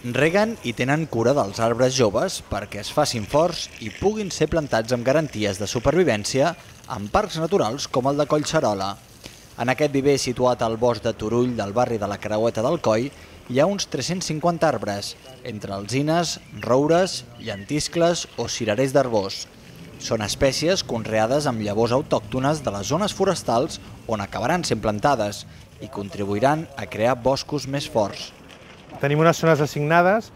Reguen i tenen cura dels arbres joves perquè es facin forts i puguin ser plantats amb garanties de supervivència en parcs naturals com el de Collserola. En aquest viver situat al bosc de Turull del barri de la Creueta del Coll hi ha uns 350 arbres, entre alzines, roures, llentiscles o cirerers d'Arbós. Són espècies conreades amb llavors autòctones de les zones forestals on acabaran sent plantades i contribuiran a crear boscos més forts. Tenim unes zones assignades,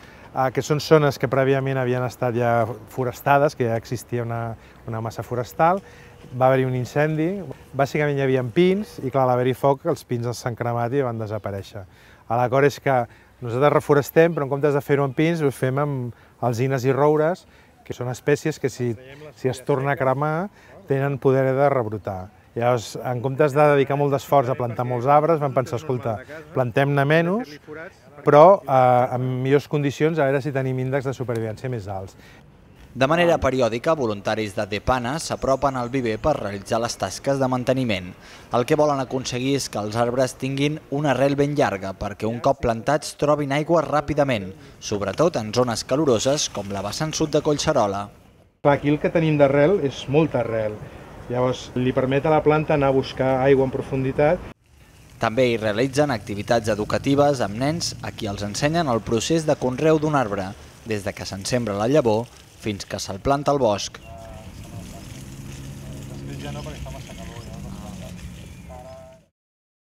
que són zones que prèviament havien estat ja forestades, que ja existia una massa forestal. Va haver-hi un incendi, bàsicament hi havia pins i clar, a l'haver-hi foc els pins s'han cremat i van desaparèixer. L'acord és que nosaltres reforestem, però en comptes de fer-ho amb pins ho fem amb alzines i roures, que són espècies que si es torna a cremar tenen poder de rebrotar. Llavors, en comptes de dedicar molt d'esforç a plantar molts arbres, vam pensar, escolta, plantem-ne menys, però en millors condicions, a veure si tenim índexs de supervivència més alts. De manera periòdica, voluntaris de Depana s'apropen al viver per realitzar les tasques de manteniment. El que volen aconseguir és que els arbres tinguin una arrel ben llarga perquè un cop plantats trobin aigua ràpidament, sobretot en zones caloroses com la vessant sud de Collserola. Aquí el que tenim d'arrel és molta arrel. Llavors, li permet a la planta anar a buscar aigua en profunditat. També hi realitzen activitats educatives amb nens a qui els ensenyen el procés de conreu d'un arbre, des de que se'n sembra la llavor fins que se'l planta al bosc.